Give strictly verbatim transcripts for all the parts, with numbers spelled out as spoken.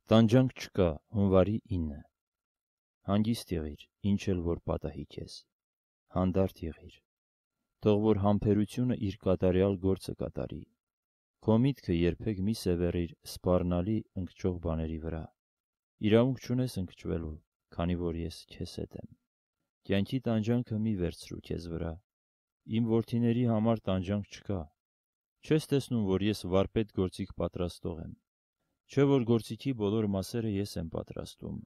Տանջանք չկա, հունվարի ինը։ Հանգիստ եղիր, ինչ էլ որ պատահի քեզ, հանդարտ եղիր, թող որ համբերությունը իր կատարյալ գործը կատարի, քո միտքը երբեք մի սևեռիր սպառնալի ընկճող բաների վրա, իրավունք չունես ընկճվելու, քանի որ ես քեզ հետ եմ, կյանքի տանջանքը մի վերցրու քեզ վրա, իմ որդիների համար տանջանք չկա, չես տեսնում, որ ես վարպետ գործիք պատրաստող եմ, չէ որ գործիքի բոլոր մասերը ես եմ պատրաստում,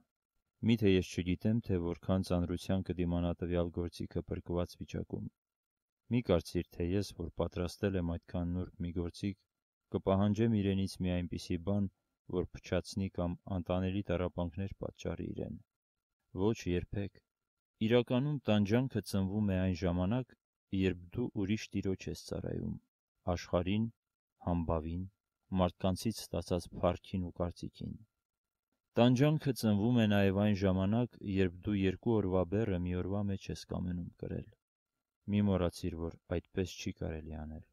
միթե ես չգիտեմ, թե որքան ծանրության կդիմանա տվյալ գործիքը փրկված վիճակում, մի կարծիր, թե ես, որ պատրաստել եմ այդքան նուրբ մի գործիք, կպահանջեմ իրենից մի այնպիսի բան, որ փչացնի կամ անտանելի տառապանքներ պատճառի իրեն, ոչ երբեք, իրականում տանջանքը ծնվում է այն ժամանակ, երբ դու ուրիշ տիրոջ ես ծառայում, աշխարհին, համբավին, մարդկանցից ստացած փառքին ու կարծիքին։ Տանջանքը ծնվում է նաև այն ժամանակ, երբ դու երկու օրվա բեռը մի օրվա մեջ ես կամենում կրել։ Մի մոռացիր, որ այդպես չի կարելի անել։